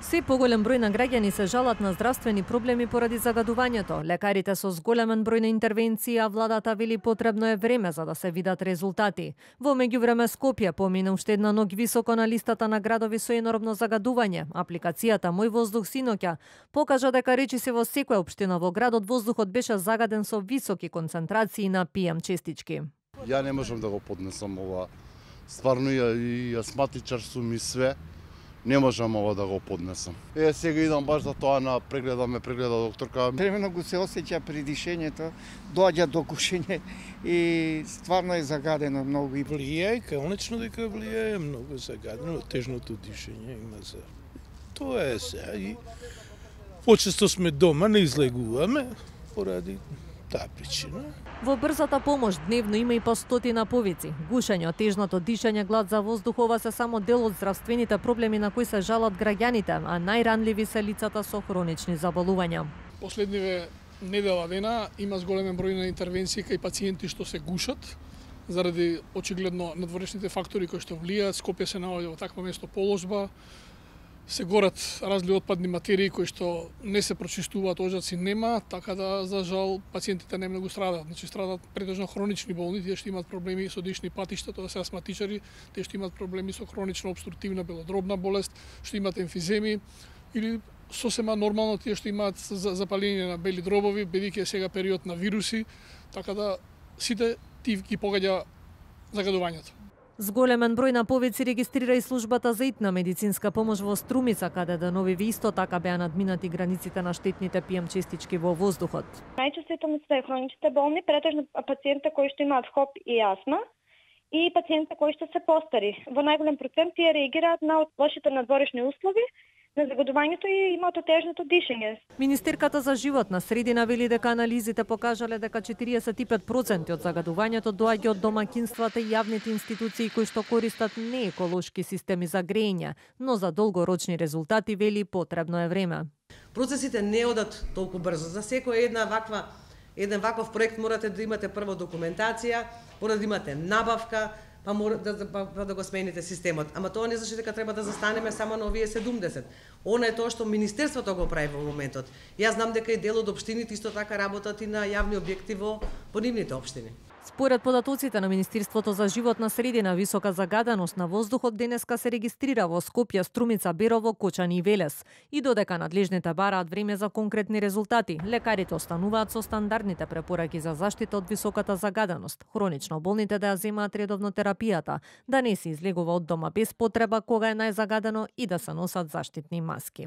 Се поголем број на граѓани се жалат на здравствени проблеми поради загадувањето. Лекарите со зголемен број на интервенции, а владата вели потребно е време за да се видат резултати. Во меѓувреме Скопје помина уште една ног високо на листата на градови со енормно загадување. Апликацијата Мој воздух синоќа покажа дека речиси во секоја општина во градот воздухот беше загаден со високи концентрации на PM честички. Ја не можам да го поднесам ова. Стварно и астматичар сум и све. Не можам ова да го поднесам. Сега идам баш за тоа на прегледа докторка. Времено го се осеќа при дишењето, доаѓа до гушење и стварно е загадено многу. Влијае, конечно дека влијае, многу загадено, тежното дишење има за. Тоа е се. И почесто сме дома, не излегуваме поради таа причина. Во брзата помош дневно има и по стотина повици. Гушење, тежното дишење, глад за воздух, ова се само дел од здравствените проблеми на кои се жалат граѓаните, а најранливи се лицата со хронични заболувања. Последниве недела дена има зголемен број на интервенции кај пациенти што се гушат заради очигледно надворешните фактори кои што влијаат. Скопје се наоѓа во такво место положба, се горат разли отпадни материи кои што не се прочистуваат, ожаци нема, така да за жал пациентите не многу страдаат. Значи страдаат претежно хронични болни, тие што имаат проблеми со дишни патишта, тоа се астматичари, тие што имаат проблеми со хронична обструктивна белодробна болест, што имаат емфиземи или сосема нормално тие што имаат запаление на бели дробови, бидејќи е сега период на вируси, така да сите тие ги погода загадувањето. Зголемен број на повици регистрира и службата за итна медицинска помош во Струмица, каде деновиве исто така беа надминати границите на штетните PM честички во воздухот. Најчувствителни се хроничните болни, претежно пациенти кои што имаат ХОП и астма и пациенти кои што се постари. Во најголем процент тие реагираат на лошите надворешни услови, на загадувањето и имаат тежното дишење. Министерката за животна средина вели дека анализите покажале дека 45% од загадувањето доаѓа од домаќинствата и јавните институции кои што користат нееколошки системи за грејење, но за долгорочни резултати вели потребно е време. Процесите не одат толку брзо. За секој еден ваков проект морате да имате прво документација, мора да имате набавка, па мора да го смените системот. Ама тоа не значи дека треба да застанеме само на овие 70. Она е тоа што Министерството го прави во моментот. Јас знам дека и дел од општините исто така работат и на јавни објекти во нивните општини. Според податоците на Министерството за животна средина, висока загаденост на воздухот денеска се регистрира во Скопје, Струмица, Берово, Кочани и Велес. И додека надлежните бараат време за конкретни резултати, лекарите остануваат со стандардните препораки за заштита од високата загаденост, хронично болните да ја земаат редовно терапијата, да не се излегува од дома без потреба кога е најзагадено и да се носат заштитни маски.